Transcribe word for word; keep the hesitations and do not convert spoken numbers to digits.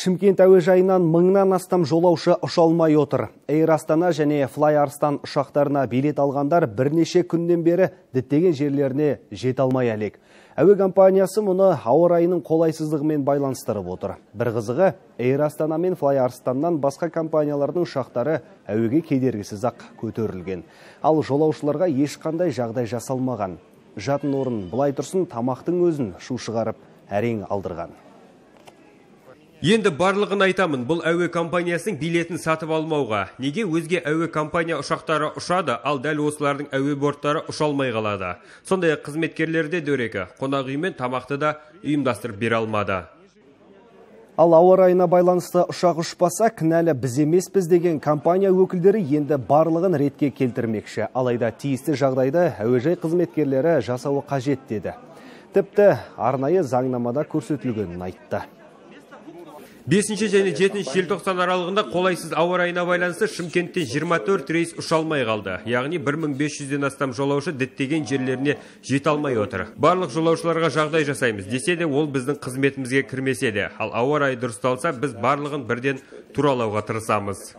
Шымкент әуежайынан мыңнан астам жолаушы ұша алмай отыр. Эйр Астана және Fly Арыстан ұшақтарына билет алғандар бірнеше күннен бері діттеген жерлеріне жете алмай әлек. Әуе компаниясы мұны ауа райының қолайсыздығымен байланыстырып отыр. Бір қызығы, Эйр Астана мен Fly Арыстаннан басқа компаниялардың ұшақтары әуеге кедергісіз ақ көтерілген. Ал жолаушыларға ешқандай жағдай жасалмаған. Жатын орын былай тұрсын, тамақтың өзін шу шығарып әрең алдырған. Енді барлығын айтамын, бұл әуе компаниясының билетін сатып алмауға. Неге өзге әуе компания ұшақтары ұшады, ал дәл осылардың әуе борттары ұша алмай қалады. Сондай қызметкерлерде дөрекі, қонақ үй мен тамақты да ұйымдастырып бере алмады. Ал ауа райына байланысты ұшақ ұшпаса, кінәлі біз емеспіз деген компания өкілдері енді барлығын ретке келтірмекші. Алайда тиісті жағдайды әуежай қызметкерлері жасауы қажет деді. Тіпті арнайы заңнамада көрсетілгенін айтты. бесінші және жетінші желтоқсан аралығында қолайсыз ауа райына байланысты Шымкенттен жиырма төрт рейс ұша алмай қалды. Яғни бір мың бес жүзден астам жолаушы діттеген жерлеріне жете алмай отыр. Барлық жолаушыларға жағдай жасаймыз десе де, ол біздің қызметімізге кірмесе де. Ал ауа райы дұрысталса, біз барлығын бірден туралауға тырысамыз.